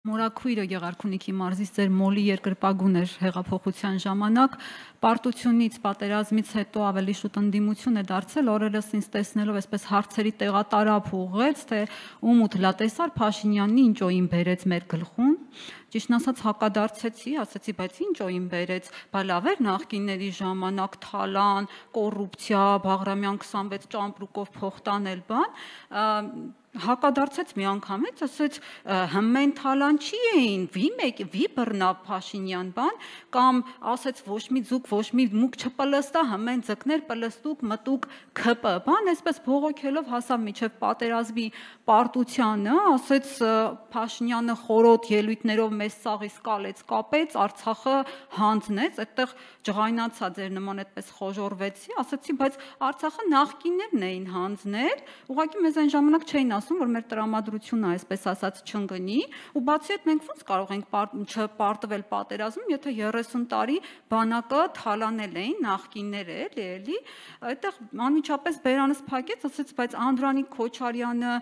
Մորաքույրը Գեղարքունիքի մարզից ձեր մոլի երկրպագուն էր հեղափոխության ժամանակ, պարտությունից, պատերազմից հետո ավելի շուտ ընդդիմություն է դարձել, օրերս ինձ տեսնելով այսպես հարցերի տեղատարափ ուղղեց, թե ում ու լատեսար Փաշինյանին ինչ օին բերեց մեր գլխուն, ճիշտն ասած հակադարձեցի, ասացի, բայց ինչ օին բերեց, բա լավ էր նախկինների ժամանակ թալան, կոռուպցիա, Բաղրամյան 26 ճամպրուկով փող տանել բան, հակադարձեց միանգամից, ասեց հմեն թալան չի էին, վի բռնավ Փաշինյան բան, կամ ասեց ոչ մի ձուկ, ոչ մի մուկ չպլստա, հմեն ձկներ պլստուկ, մտուկ քպ, բան, այսպես բողոքելով հասավ միջև պատերազմի պարտությանը, ասեց Փաշինյանը խորոտ ելույթներով մեզ սաղից կալեց, կապեց, Արցախը հանձնեց, այդտեղ ջղայնացա ձեր նման այդպես խոժորվեցի, ասացի, բայց Արցախը նախկիններն էին հանձնել, ուղղակի մեզ այն ժամանակ չէին ասում, որ մեր տրամադրությունը այսպես ասած չընկնի, ու բացի այդ մենք ոնց կարող ենք չպարտվել պատերազմում, եթե 30 տարի բանակը թալանել էին նախկինները, էլի, այդտեղ անմիջապես բերանս փակեց, ասեց, բայց Անդրանիկ Քոչարյանը,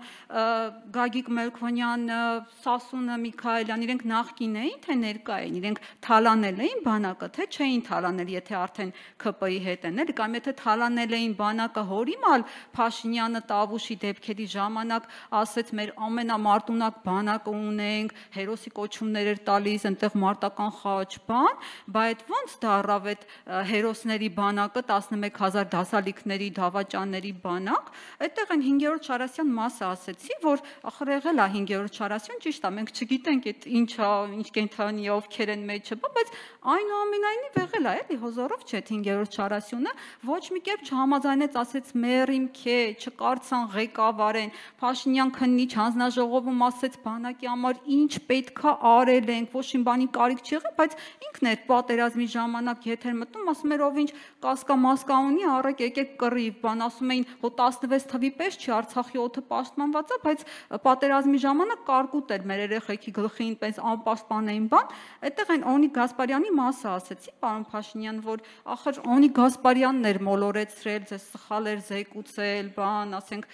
Գագիկ Մելքոնյանը, Սասունը Միքայելյան, իրենք նախկին էին, թե ներկա էին, իրենք թալանել էին բանակը, թե չէին թալանել, եթե արդեն ԿՊ-ի հետ են, էլի, կամ եթե թալանել էին բանակը, հորիմալ Փաշինյանը Տավուշի դեպքերի ժամանակ ասեց մեր ամենամարտունակ բանակը ունենք, հերոսի կոչումներ էր տալիս, այնտեղ մարտական խաչ բան, բա այդ ոնց դառավ այդ հերոսների բանակը 11,000 դասալիքների, դավաճանների բանակ, այդտեղ այն 5-րդ Շարասյան մասը ասեցի, որ ախր եղել է 5-րդ Շարասյան, ճիշտ է, մենք չգիտենք այդ ինչ կենթանի ովքեր են մեջը, բայց այնուամենայնիվ եղել է, էլի հոզորով չէ 5-րդ Շարասյունը, ոչ մի կերպ չհամաձայնեց, ասեց մերիմ քե, չկարծան ղեկավարեն, Փաշինյան քննիչ հանձնաժողովում ասեց բանակի համար ինչ պետքա արել ենք, ոչ մի բանի կարիք չի եղել, բայց ինքն էր պատերազմի ժամանակ եթեր մտնում, ասում էր ով ինչ կասկա-մասկա ունի, առեք եկեք կռիվ, բան ասում էին, հո 16 թվի պես չի Արցախի օդը պաշտպանված է, բայց պատերազմի ժամանակ կարկուտ էր մեր երեխեքի գլխին, պես անպաշտպան էին բան, այդտեղ այն Օնիկ Գասպարյանի մասը ասեցի, պարոն Փաշինյան, որ ախր Օնիկ Գասպարյանն էր մոլորեցրել, ձեզ սխալ էր զեկուցել, բան, ասենք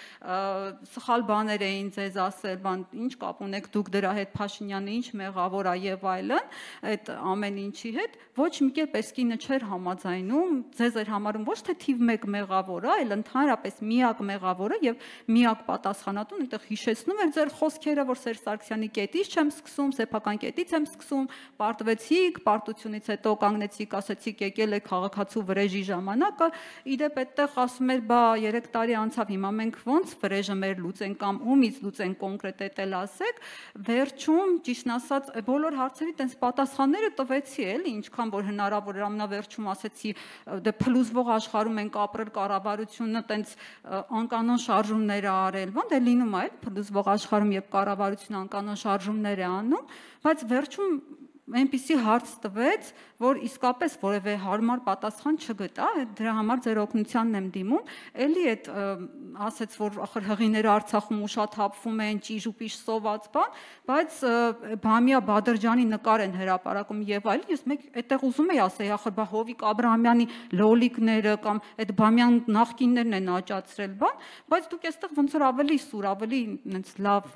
սխալ բաներ էին ձեզ ասել, բան, ինչ կապ ունեք դուք դրա հետ, Փաշինյանը ինչ մեղավոր է եւ այլն, այդ ամեն ինչի հետ, ոչ մի կերպ այս կինը չէր համաձայնում, ձեզ էր համարում ոչ թե թիվ 1 մեղավորը, այլ ընդհանրապես միակ մեղավորը եւ միակ պատասխանատուն, այնտեղ հիշեցնում էր ձեր խոսքերը, որ Սերժ Սարգսյանի կետից չեմ սկսում, սեփական կետից եմ սկսում, պարտվեցիք, պարտությունից հետո կանգնեցիք, ասեցիք եկել է քաղաքացու վրեժի ժամանակը, իդեպ այդտեղ ասում էր, բա 3 տարի անցավ, հիմա մենք ոնց վրեժը մեր լուծենք կամ ումից լուծենք կոնկրետ էլ ասեք, վերջում ճիշտն ասած բոլոր հարցերի տենց պատասխանները տվեցի, էլի, ինչքան որ հնարավոր էր, ամենավերջում ասեցի, դե փլուզվող աշխարհում ենք ապրել, կառավարությունը տենց անկանոն շարժումներ է արել, բան դե լինում է, փլուզվող աշխարհում երբ կառավարությունը անկանոն շարժումներ է անում, բայց վերջում այնպիսի հարց տվեց, որ իսկապես որևէ հարմար պատասխան չգտա, դրա համար ձեր օգնությանն եմ դիմում, էլի այդ ասեց, որ ախր հղիները Արցախում ուշաթափվում են, ճիժուպիշ սոված բան, բայց Բամիա Բադրջանի նկար են հրապարակում եւ այլն, ես մեկ այդտեղ ուզում եի ասեի, ախր բա Հովիկ Աբրահամյանի լոլիկները կամ այդ Բամյան նախկիններն են աճացրել բան, բայց դուք այստեղ ոնց որ ավելի սուր, ավելի այնց լավ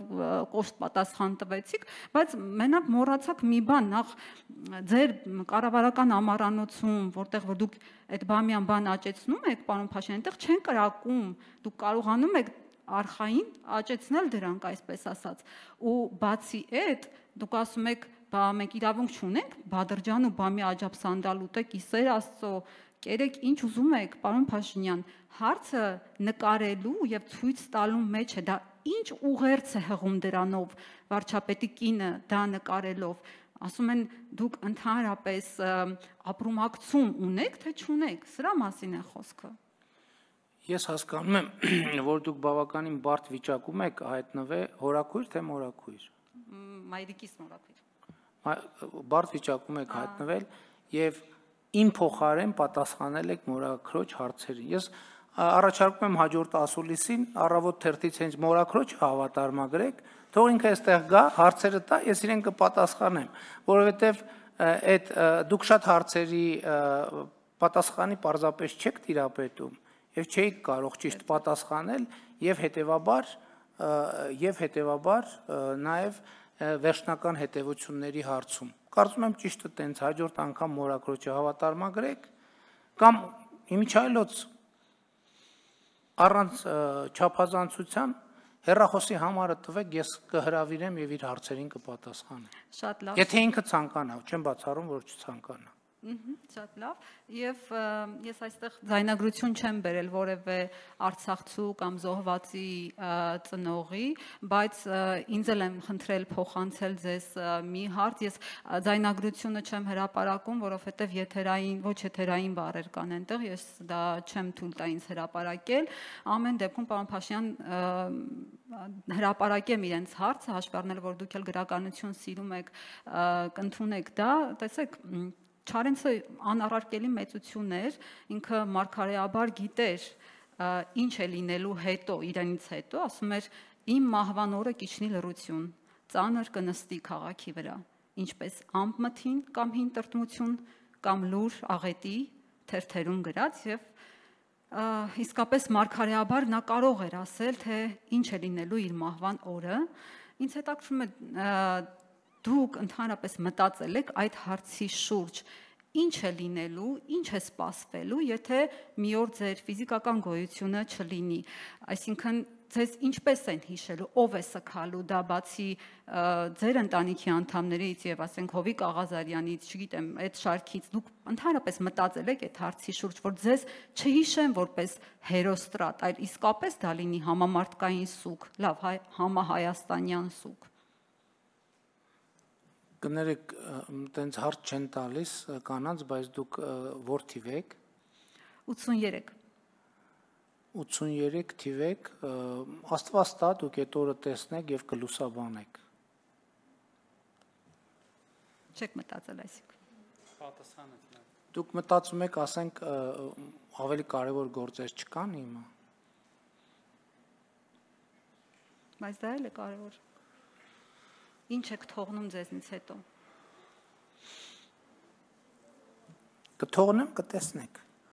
կոշտ պատասխան տվեցիք, բայց մենակ մոռացաք մի բան, ձեր կառավարական ամառանոցում, որտեղ որ դուք այդ Բամյան բան աճեցնում եք, պարոն Փաշինյան, այնտեղ չեն կրակում, դուք կարողանում եք արխային աճեցնել դրանք, այսպես ասած, ու բացի այդ, դուք ասում եք, բա մենք իրավունք չունենք, Բադրջան ու Բամի աջափսանդալ ուտեք, իսեր Աստծո, կերեք ինչ ուզում եք, պարոն Փաշինյան, հարցը նկարելու եւ ցույց տալու մեջ է, դա ինչ ուղերձ է հղում դրանով, վարչապետի կինը դա նկարելով, ասում են դուք ընդհանրապես ապրումակցում ունեք, թե չունեք, սրա մասին է խոսքը։ Ես հասկանում եմ, որ դուք բավականին բարդ վիճակում եք հայտնվել, հորաքույր թե մորաքույր։ Մայրիկիս մորաքույր։ Բարդ վիճակում եք հայտնվել եւ իմ փոխարեն պատասխանել եք մորաքրոջ հարցերին։ Ես առաջարկում եմ հաջորդ ասուլիսին առավոտ թերթից հենց մորաքրոջ հավատարմագրեք, թող ինքը այստեղ գա, հարցերը տա, ես իրեն կպատասխանեմ, որովհետեւ այդ դուք շատ հարցերի պատասխանի պարզապես չեք տիրապետում եւ չէիք կարող ճիշտ պատասխանել եւ հետեւաբար նաեւ վերջնական հետևությունների հարցում։ Կարծում եմ ճիշտը տենց հաջորդ անգամ մորաքրոջը հավատարմագրեք կամ իմիջայլոց առանց չափազանցության հեռախոսի համարը տվեք, ես կհրավիրեմ եւ իր հարցերին կպատասխանեմ։ Շատ լավ։ Եթե ինքը ցանկանա, չեմ բացառում, որ չցանկանա։ Շատ լավ, եւ ես այստեղ ձայնագրություն չեմ բերել որևէ արցախցու կամ զոհվածի ծնողի, բայց ինձ էլ եմ խնդրել փոխանցել ձեզ մի հարց, ես ձայնագրությունը չեմ հրապարակում, որովհետեւ ոչ եթերային բառեր կան այնտեղ, ես դա չեմ թույլ տա ինձ հրապարակել, ամեն դեպքում պարոն Փաշյան հրապարակեմ իրենց հարցը, հաշվի առնելով որ դուք էլ գրականություն սիրում եք, կընդունեք դա, տեսեք Չարենցը անառարկելի մեծություն էր, ինքը մարգարեաբար գիտեր ինչ է լինելու հետո, իրանից հետո, ասում էր իմ մահվան օրը կիջնի լռություն, ծանր կնստի քաղաքի վրա, ինչպես ամպմթին կամ հին տրտմություն կամ լուր աղետի թերթերում գրած եւ իսկապես մարգարեաբար նա կարող էր ասել, թե ինչ է լինելու իր մահվան օրը, ինձ հետաքրքրում է դուք ընդհանրապես մտածել եք այդ հարցի շուրջ, ինչ է լինելու, ինչ է սպասվելու, եթե մի օր ձեր ֆիզիկական գոյությունը չլինի, այսինքն ձեզ ինչպես են հիշելու, ով է սգալու, դա բացի ձեր ընտանիքի անդամներից եւ ասենք Հովիկ Աղազարյանից, չգիտեմ, այդ շարքից դուք ընդհանրապես մտածել եք այդ հարցի շուրջ, որ ձեզ չհիշեն որպես հերոստրատ, այլ իսկապես դա լինի համամարտկային սուկ, լավ, համահայաստանյան սուկ։ Կներեք, տենց հարց չեն տալիս կանանց, բայց դուք որ թիվ եք։ 83 83 թիվ եք, Աստված տա դուք այդ օրը տեսնեք եւ կլուսաբանեք։ Չեք մտածել այսինքն։ Պատասխանը։ Դուք մտածում եք, ասենք, ավելի կարևոր գործեր չկան հիմա։ Բայց դա էլ է կարևոր։ Ինչ եք թողնում ձեզնից հետո։ Կթողնեմ, կտեսնեք։